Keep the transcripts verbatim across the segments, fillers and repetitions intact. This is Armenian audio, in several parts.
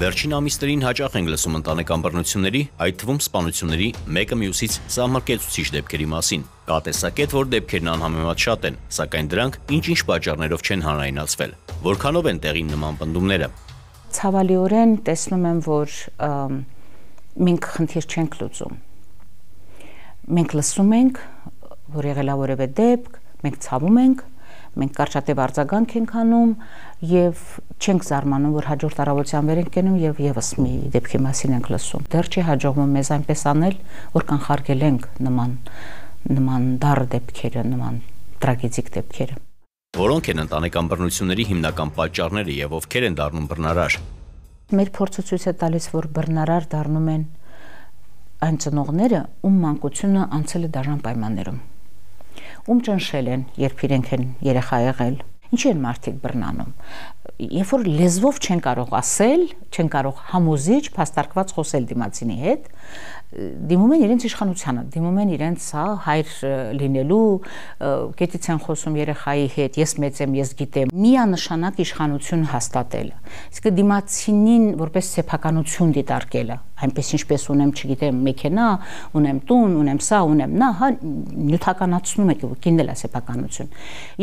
Վերջին ամիսներին հաճախ ենք լսում ընտանեկան բռնությունների, այդ թվում սպանությունների մեկը մյուսից սահմռկեցուցիչ դեպքերի մասին։ Կա տեսակետ, որ դեպքերն անհամեմատ շատ են, սակայն դրանք ինչ-ինչ պատճառներով չեն հանրայնացվել։ Որքանով են տեղին նման պնդումները։ Ցավալիորեն տեսնում եմ, որ մենք խնդիր չենք լուծում։ Մենք լսում ենք, որ եղել է որևէ դեպք, մենք ցավում ենք, մենք կարճատև արձագանք ենք անում եւ չենք զարմանում, որ հաջորդ առավոտյան վեր ենք կենում եւ եւս մի դեպքի մասին ենք լսում։ Դեռ չի հաջողվում մեզ այնպես անել, որ կանխարգելենք նման նման դառ դեպքերը, նման տրագեդիկ դեպքերը։ Որոնք են ընտանեկան բռնությունների հիմնական պատճառները եւ ովքեր են դառնում բռնարար։ Մեր փորձը ցույց է տալիս, որ բռնարար դառնում են այն ծնողները, ում մանկությունը անցել է դաժան պայմաններում, ում ճնշել են, երբ իրենք են երեխա եղել։ Ինչի են մարդիկ բռնանում։ Երբ որ լեզվով չեն կարող ասել, չեն կարող համոզիչ, փաստարկված խոսել դիմացինի հետ, դիմում են իրենց իշխանությանը, դիմում են իրենց հա հայր լինելու, կետից են խոսում երեխայի հետ, ես մեծ եմ, ես գիտեմ, միանշանակ իշխանություն հաստատելը։ Իսկ դիմացինին որպես սեփականություն դիտարկելը, այնպես ինչպես ունեմ, չգիտեմ, մեքենա, ունեմ տուն, ունեմ սա, ունեմ նա, հա նյութականացնում եք, կինն էլ է սեփականություն։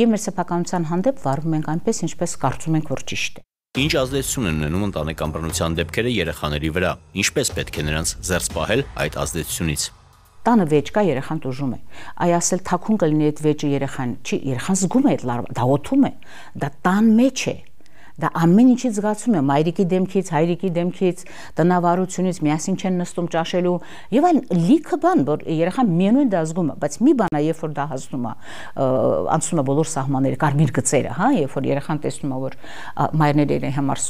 Եվ մեր սեփականության հանդեպ վարվում ենք այնպես, ինչպես կարծում ենք, որ ճիշտ է։ Ինչ ազդեցություն են ունենում ընտանեկան բռնության դեպքերը երեխաների վրա, ինչպես պետք է նրանց զերծ պահել այդ ազդեցությունից։ Տանը վեճ կա, երեխան տուժում է։ Այ ասել թաքուն կլինի այդ վեճը երեխան, չի, երեխան զգում է այդ լարվա, դա օթում է, դա տան մեջ է։ Դա ամեն ինչից զգացում է, մայրիկի դեմքից, հայրիկի դեմքից, տնավարությունից, միասին չեն նստում ճաշելու եւ այլն, լիքը բան, որ երեխան միևնույն դա զգում է, բայց մի բան է, երբ որ դա հասնում է, անցնում է բոլոր սահմանները, կարմիր գծերը, հա, երբ որ երեխան տեսնում է, որ մայրները իր համար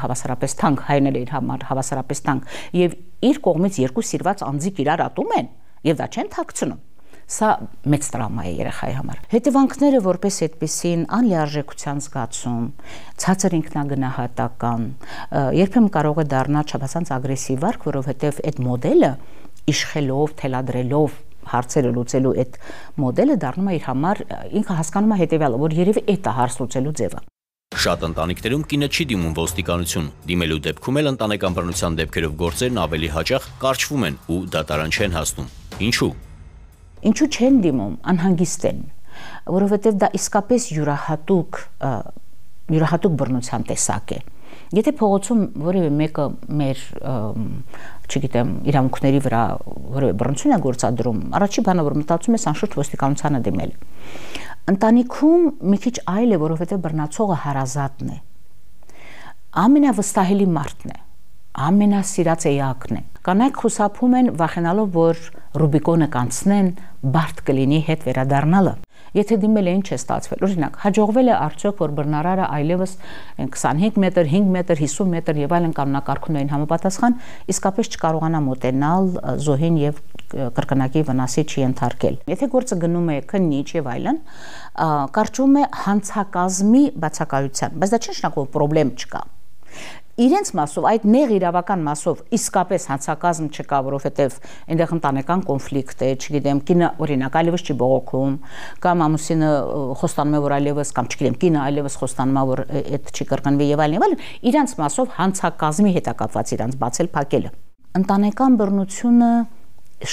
հավասարապես թանկ, հայրները իր համար հավասարապես թանկ եւ իր կողմից երկու սիրված անձիկ իրար ատում են եւ դա չեն թաքցնում։ Սա մեծ տրավմա է երեխայի համար։ Հետևանքները որպես այդպիսին անլիարժեքության զգացում, ցածր ինքնագնահատական, երբեմն կարող է դառնալ չափազանց ագրեսիվ վարք, որովհետև այդ մոդելը իշխելով, թելադրելով հարցերը լուծելու այդ մոդելը դառնում է իր համար, ինքը հասկանում է հետևյալը, որ երևի այդ է հարց լուծելու ձևը։ Շատ ընտանիքներում կինը չի դիմում ոստիկանություն, դիմելու դեպքում էլ ընտանեկան բռնության դեպքերով գործերն ավելի հաճախ կարճվում են ու դատարան չեն հասնում։ Ինչու՞։ Ինչու չեն դիմում, անհանգիստ են, որովհետև դա իսկապես յուրահատուկ յուրահատուկ բռնության տեսակ է։ Եթե փողոցում որևէ մեկը մեր, չգիտեմ, իրավունքների վրա որևէ բռնություն է գործադրում, առաջի բանը, որ մտածում ես, անշուշտ ոստիկանությանը դիմել։ Ընտանիքում մի քիչ այլ է, որովհետև բռնացողը հարազատն է։ Ամենավստահելի մարդն է, ամենասիրած էակն է։ Կանայք խուսափում են, վախենալով, որ Ռուբիկոնը կանցնեն, բարդ կլինի հետ վերադառնալը։ Եթե դիմել է, ինչ է ստացվել։ Օրինակ, հաջողվել է արդյոք, որ բռնարարը այլևս քսանհինգ մետր, հինգ մետր, հիսուն մետր եւ այլն կանոնակարգումներին համապատասխան իսկապես չկարողանա մոտենալ զոհին եւ կրկնակի վնասի չի ենթարկել։ Եթե գործը գնում է քննիչ եւ այլն, կարճում է հանցակազմի բացակայության, բայց դա չի նշանակում, որ պրոբլեմ չկա։ Իրենց մասով, այդ նեղ իրավական մասով իսկապես հանցակազմ չկա, որովհետև այնտեղ ընտանեկան կոնֆլիկտ է, չգիտեմ, կինը օրինակ այլևս չի բողոքում, կամ ամուսինը խոստանում է, որ այլևս, կամ չգիտեմ, կինը այլևս խոստանում է, որ այդ չի կրկնվի եւ այլն եւ այլն, իրենց մասով հանցակազմի հետ է կապված իրանց բացել փակելը։ Ընտանեկան բռնությունը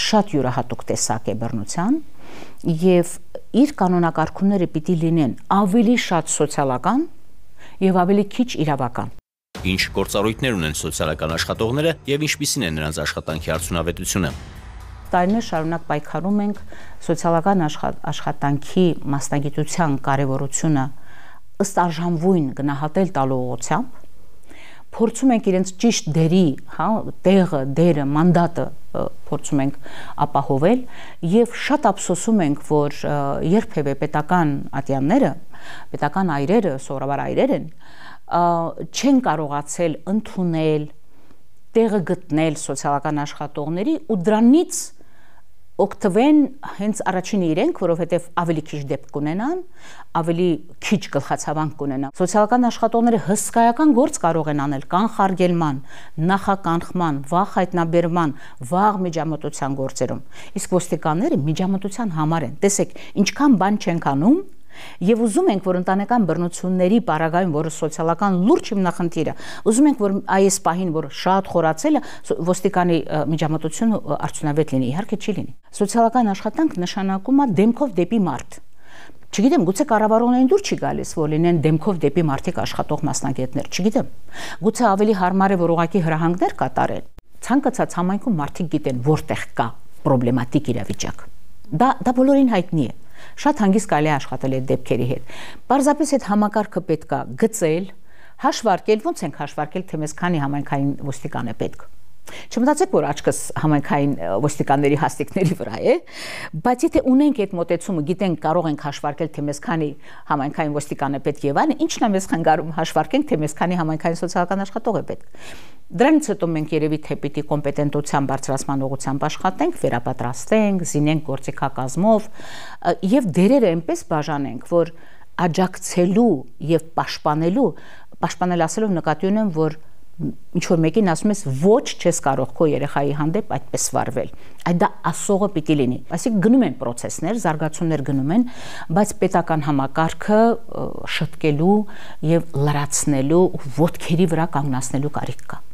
շատ յուրահատուկ տեսակ է բռնության եւ իր կանոնակարգումները պիտի լինեն ավելի շատ սոցիալական եւ ավելի քիչ իրավական։ Ինչ գործառույթներ ունեն սոցիալական աշխատողները եւ ինչպիսին է նրանց աշխատանքի արդյունավետությունը։ Տարիներ շարունակ պայքարում ենք սոցիալական աշխատանքի մասնագիտության կարեւորությունը ըստ արժանվույն գնահատել տալու ուղղությամբ, փորձում ենք իրենց ճիշտ դերի, հա, տեղը, դերը, մանդատը փորձում ենք ապահովել եւ շատ ափսոսում ենք, որ երբևէ պետական ատյանները, պետական այրերը, սովորաբար այրեր են, չեն կարողացել ընդունել, տեղը գտնել սոցիալական աշխատողների ու դրանից օգտվեն հենց առաջինը իրենք, որովհետև ավելի քիչ դեպք կունենան, ավելի քիչ գլխացավանք կունենան։ Սոցիալական աշխատողները հսկայական գործ կարող են անել կանխարգելման, նախականխման, վաղ հայտնաբերման, վաղ միջամտության գործերում։ Իսկ ոստիկանները միջամտության համար են։ Տեսեք, ինչքան բան չենք անում, Եվ ուզում ենք, որ ընտանեկան բռնությունների պարագայում, որը սոցիալական լուրջ հիմնախնդիր է, ուզում ենք, որ այս պահին, որ շատ խորացել է, ոստիկանի միջամտությունը արդյունավետ լինի, իհարկե չի լինի։ Սոցիալական աշխատանք նշանակում է դեմքով դեպի մարդ։ Չգիտեմ, գուցե կառավարողներին դուր չի գալիս, որ լինեն դեմքով դեպի մարդիկ աշխատող մասնագետներ, չգիտեմ։ Գուցե ավելի հարմար է, որ ուղղակի հրահանգներ կատարեն։ Ցանկացած համայնքում մարդիկ գիտեն, որտեղ կա պրոբլեմատիկ իրավիճակ։ Դա դա բոլորին հայտնի է։ Շատ հանգիստ կարելի է աշխատել այդ դեպքերի հետ։ Պարզապես այդ համակարգը պետք է գծել, հաշվարկել, ոնց ենք հաշվարկել, թե մեզ քանի համայնքային ոստիկան է պետք։ Չմտածեք, որ աչքս համայնքային ոստիկանների հաստիկների վրա է, բայց եթե ունենք այդ մոտեցումը, գիտենք, կարող ենք հաշվարկել, թե մեզ քանի համայնքային ոստիկան է պետք եւ այլն, ինչն է մեզ խանգարում հաշվարկենք, թե մեզ քանի համայնքային սոցիալական աշխատող է պետք։ Դրանից հետո մենք երևի թե պիտի կոմպետենտության բարձրացման ուղղությամբ աշխատենք, վերապատրաստենք, զինենք գործիքակազմով եւ դերերը այնպես բաժանենք, որ աջակցելու եւ պաշտպանելու, պաշտպանել ասելով նկատի ունեմ, որ ինչ որ մեկին ասում ես ոչ չես կարող քո երեխայի հանդեպ այդպես վարվել, այդ դա ասողը պիտի լինի, այսինքն գնում են process-ներ, զարգացումներ գնում են, բայց պետական համակարգը շտկելու եւ լրացնելու, ոտքերի վրա կանգնացնելու կարիք կա։